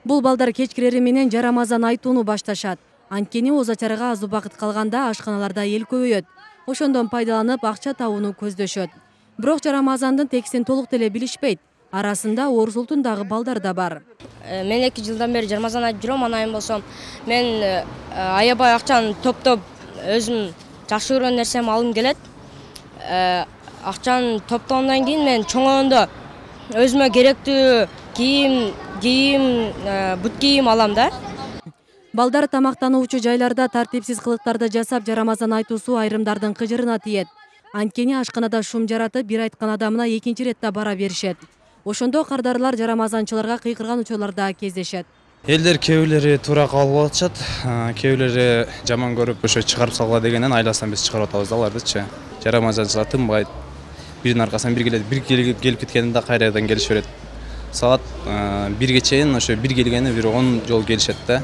Бул балдар кечкилери менен жарамазан айтууну башташат. Анткени оозо ачарга аз убакыт калганда ашканаларда эл көбөйөт. Ошондон пайдаланып акча табууну көздөшөт. Бирок жарамазандын текстин толук деле билишпейт. Арасында орус улутундагы балдар да бар. Мен 2 жылдан бери жарамазан айтып жүрөм, анайын болсом мен аябай акчаны топтоп өзүм жакшы көргөн нерсеми алгым келет. Акчаны топтогондон кийин мен чоңоюндо өзүмө керектүү кийим, бут кийим алам да. Балдар тамактануучу жайларда тартипсиз кылыктарды жасап, жарамазан айтуусу айрымдардын кыжырына тиет. Анткени ашканада шум жаратып, бир айткан адамына экинчи иретте бара беришет. Ошондо кардарлар жарамазанчыларга кыйкырган учурлар да кездешет. Элдер кээбилери туура кабыл атышат, кээбилери жаман көрүп ошо чыгарып салгыла дегенден айласынан биз чыгарып атабыз да алардычы. Жарамазанчылар тынбайт. Биринин аркасынан бир келип кеткенде кайрадан келише берет. Саат 1ге чейин ошо бир келгени бир 10 жолу келишет да.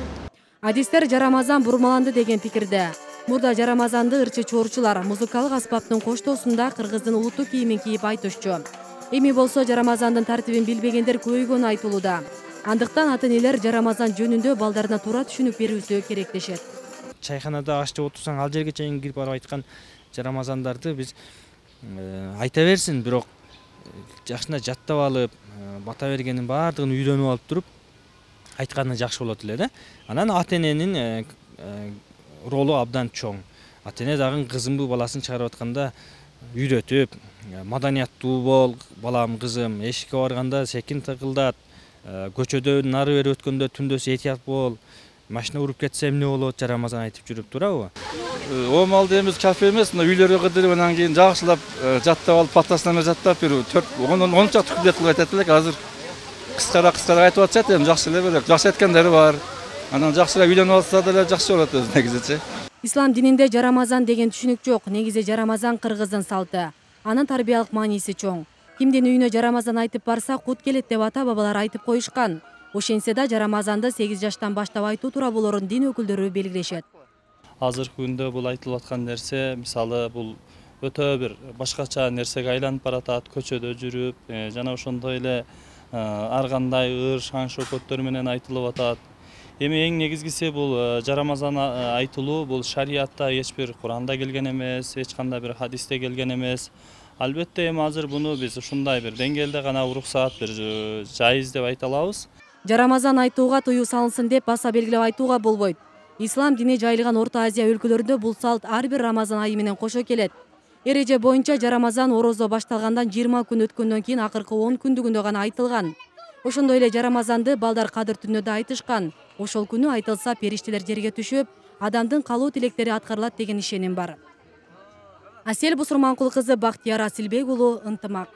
Адистер жарамазан бурмаланды деген пикирде. Мурда жарамазанды ырчы чоорчулар музыкалык аспаптын коштоосунда кыргыздын улуттук кийимин кийип айтышчу. Эми болсо жарамазандын тартибин билбегендер көбөйгөнү айтылууда. Андыктан ата-энелер жарамазан жөнүндө балдарына туура түшүнүк берүүсү керек дешет. Чайханада аш жеп отурсаң ал жерге чейин кирип барып айткан жарамазандарды биз айта берсин, бирок жакшына жаттап алып, бата бергенин баардыгын үйрөнүп алып туруп айтканы жакшы болот эле да. Анан ата-эненин ролу абдан чоң. Ата-эне дагы кызымбы баласын чыгарып атканда үйрөтүп, маданияттуу бол, балам, кызым, эшикке барганда секин тыгылдат, көчөдө нары бери өткөндө түндөсү этият бол, машина уруп кетсе эмне болот, жарамазан айтып жүрүп турабы? Оомалды эмес, кафе эмес, үйлөргө кыдырып анан кийин жакшылап жаттап алып, паттасына жаттап бир 4-10 чакты күндөт кылып айтат элек. Азыр кыскара айтып атышат, эми жакшы эле белек. Жакшы айткандары бар. Анан жакшыраак үйлөнүп алса деле жакшы болот өзү негизичи. Ислам дининде жарамазан деген түшүнүк жок. Негизи жарамазан кыргыздын салты. Анын тарбиялык мааниси чоң. Кимдин үйүнө жарамазан айтып барса, кут келет деп ата-бабалар айтып коюшкан. Ошентсе да жарамазанды 8 жаштан баштап айтуу туура болорун дин өкүлдөрү белгилешет. Азыркы күндө бул айтылып аткан нерсе, мисалы бул өтө бир башкача нерсеге айланып баратат, көчөдө жүрүп, жана ошондой эле ар кандай ыр, шаң шөкөттөр менен айтылып атат. Эми эң негизгиси бул жарамазан айтылуу бул шариатта эч бир Куранда келген эмес, эч кандай бир хадисте келген эмес. Албетте эми азыр буну биз ушундай бир деңгээлде гана уруксаат, бир жайыз деп айта алабыз. Жарамазан айтууга тыюу салынсын деп баса белгилеп айтууга болбойт. Ислам дини жайылган Орто Азия өлкөлөрүндө бул салт ар бир Рамазан айы менен кошо келет. Эреже боюнча жарамазан орозо башталгандан 20 күн өткөндөн кийин акыркы 10 күндүгүндө гана айтылган. Ошондой эле жарамазанды балдар кадыр түнүндө да айтышкан. Ошол күнү айтылса периштелер жерге түшүп, адамдын калуу тилектери аткарылат деген ишеним бар. Асель Бусурманкул кызы, Бактияр Асилбек уулу, Ынтымак.